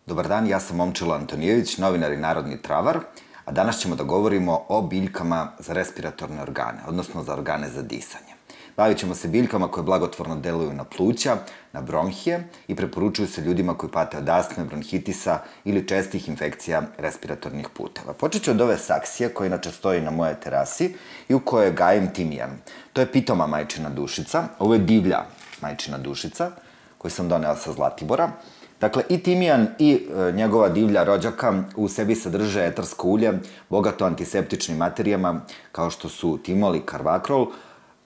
Dobar dan, ja sam Momčilo Antonijević, novinar i narodni travar, a danas ćemo da govorimo o biljkama za respiratorne organe, odnosno za organe za disanje. Bavit ćemo se biljkama koje blagotvorno deluju na pluća, na bronhije i preporučuju se ljudima koji pate od astme, bronhitisa ili čestih infekcija respiratornih puteva. Počet ću od ove saksije koja inače stoji na moje terasi i u kojoj gajim timijan. To je pitoma majčina dušica, ovo je divlja majčina dušica koju sam donela sa Zlatibora. Dakle, i timijan i njegova divlja rođaka u sebi sadrže etarsko ulje, bogato antiseptičnim materijama kao što su timol i karvakrol,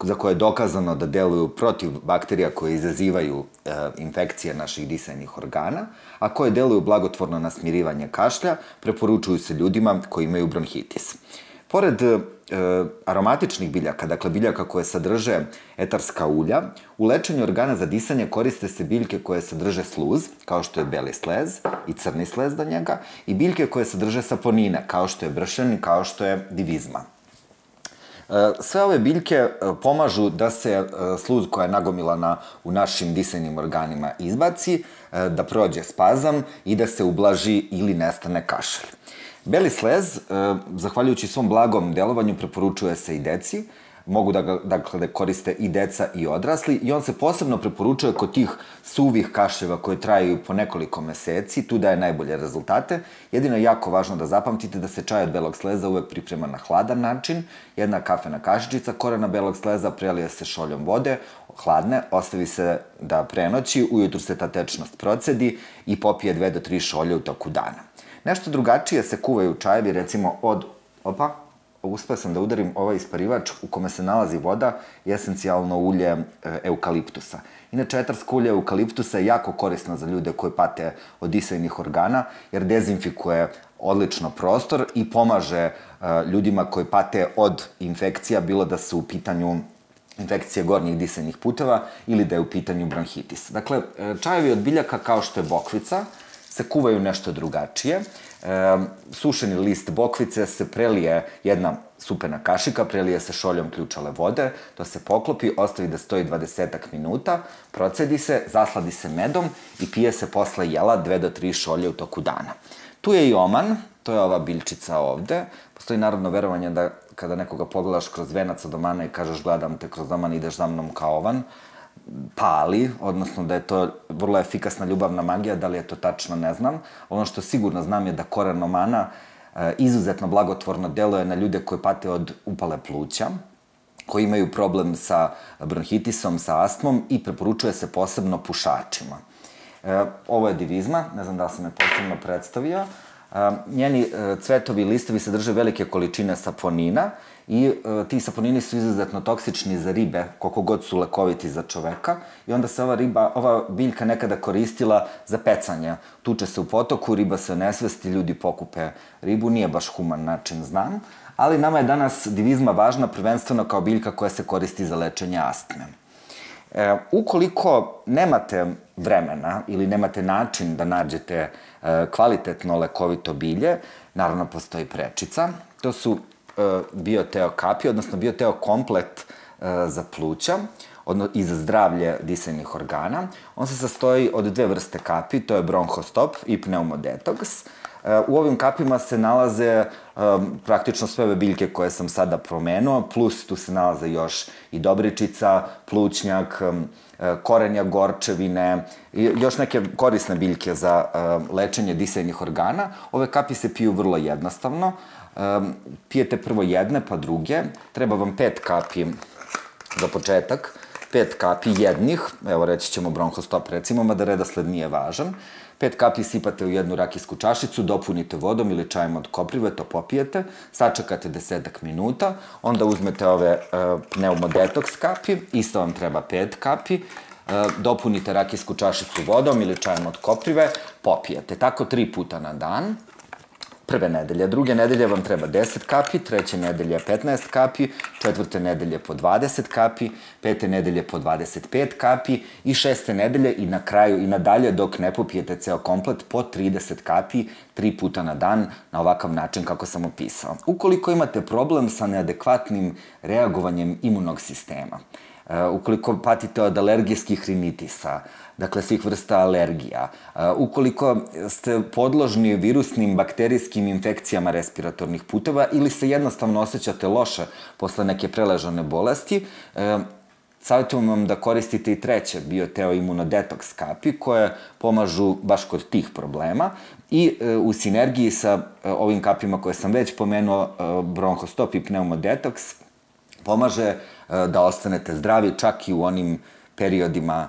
za koje je dokazano da deluju protiv bakterija koje izazivaju infekcije naših disajnih organa, a koje deluju blagotvorno na smirivanje kašlja, preporučuju se ljudima koji imaju bronhitis. Pored aromatičnih biljaka, dakle biljaka koje sadrže etarska ulja, u lečenju organa za disanje koriste se biljke koje sadrže sluz, kao što je beli slez i crni slez do njega, i biljke koje sadrže saponine, kao što je bršen i kao što je divizma. Sve ove biljke pomažu da se sluz koja je nagomilana u našim disajnim organima izbaci, da prođe spazam i da se ublaži ili nestane kašalj. Beli slez, zahvaljujući svom blagom delovanju, preporučuje se i deci, mogu da koriste i deca i odrasli, i on se posebno preporučuje kod tih suvih kašljeva koje traju po nekoliko meseci, tu daje najbolje rezultate. Jedino je jako važno da zapamtite da se čaj od belog sleza uvek priprema na hladan način, jedna kafena kašičica korena belog sleza prelije se šoljom vode, hladne, ostavi se da prenoći, ujutru se ta tečnost procedi i popije 2 do 3 šolje u toku dana. Nešto drugačije se kuvaju čajevi, recimo od... uspeo sam da udarim ovaj isparivač u kome se nalazi voda i esencijalno ulje eukaliptusa. Inače, etarsko ulje eukaliptusa je jako korisno za ljude koji pate od disajnih organa, jer dezinfikuje odlično prostor i pomaže ljudima koji pate od infekcija, bilo da su u pitanju infekcije gornjih disajnih puteva ili da je u pitanju bronhitis. Dakle, čajevi od biljaka kao što je bokvica se kuvaju nešto drugačije. Sušeni list bokvice se prelije, jedna supena kašika, prelije se šoljom ključale vode, to se poklopi, ostavi da stoji 20 minuta, procedi se, zasladi se medom i pije se posle jela 2 do 3 šolje u toku dana. Tu je i oman, to je ova biljčica ovde. Postoji narodno verovanje da kada nekoga pogledaš kroz venac od omana i kažeš gledam te kroz oman, ideš za mnom kao ovan, pali, odnosno da je to vrlo efikasna ljubavna magija, da li je to tačno ne znam. Ono što sigurno znam je da koren omana izuzetno blagotvorno deluje na ljude koji pate od upale pluća, koji imaju problem sa bronhitisom, sa astmom i preporučuje se posebno pušačima. Ovo je divizma, ne znam da li sam je posebno predstavio. Njeni cvetovi i listovi sadrže velike količine saponina i ti saponini su izuzetno toksični za ribe, koliko god su lekoviti za čoveka, i onda se ova biljka nekada koristila za pecanje. Tuče se u potoku, riba se onesvesti, ljudi pokupe ribu, nije baš human način, znam, ali nama je danas divizma važna prvenstveno kao biljka koja se koristi za lečenje astme. Ukoliko nemate vremena ili nemate način da nađete kvalitetno lekovito bilje, naravno postoji prečica. To su bioteo kapi, odnosno bioteo komplet za pluća i za zdravlje disajnih organa. On se sastoji od 2 vrste kapi, to je bronhostop i pneumodetoks. U ovim kapima se nalaze praktično sve ove biljke koje sam sada promenuo, plus tu se nalaze još i dobričica, plućnjak, korenja gorčevine i još neke korisne biljke za lečenje disajnih organa. Ove kapi se piju vrlo jednostavno. Pijete prvo jedne, pa druge. Treba vam 5 kapi za početak, 5 kapi jednih, evo reći ćemo bronhostop recimo, mada redosled nije važan. 5 kapi sipate u jednu rakijsku čašicu, dopunite vodom ili čajem od koprive, to popijete, sačekate 10 minuta, onda uzmete ove pneumodetoks kapi, isto vam treba 5 kapi, dopunite rakijsku čašicu vodom ili čajem od koprive, popijete. Tako 3 puta na dan. Prve nedelje. Druge nedelje vam treba 10 kapi, treće nedelje 15 kapi, četvrte nedelje po 20 kapi, pete nedelje po 25 kapi i šeste nedelje i na kraju i nadalje dok ne popijete ceo komplet po 30 kapi 3 puta na dan na ovakav način kako sam opisao. Ukoliko imate problem sa neadekvatnim reagovanjem imunog sistema, ukoliko patite od alergijskih rinitisa, dakle svih vrsta alergija, ukoliko ste podložni virusnim, bakterijskim infekcijama respiratornih puteva ili se jednostavno osjećate loše posle neke preležane bolesti, savjetujem vam da koristite i treće bioteoimunodetoks kapi koje pomažu baš kod tih problema i u sinergiji sa ovim kapima koje sam već pomenuo, bronhostop i pneumodetoks, pomaže da ostanete zdravi čak i u onim periodima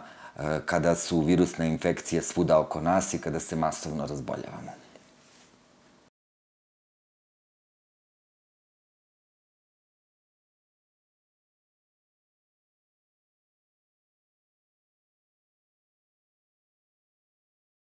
kada su virusne infekcije svuda oko nas i kada se masovno razboljavamo.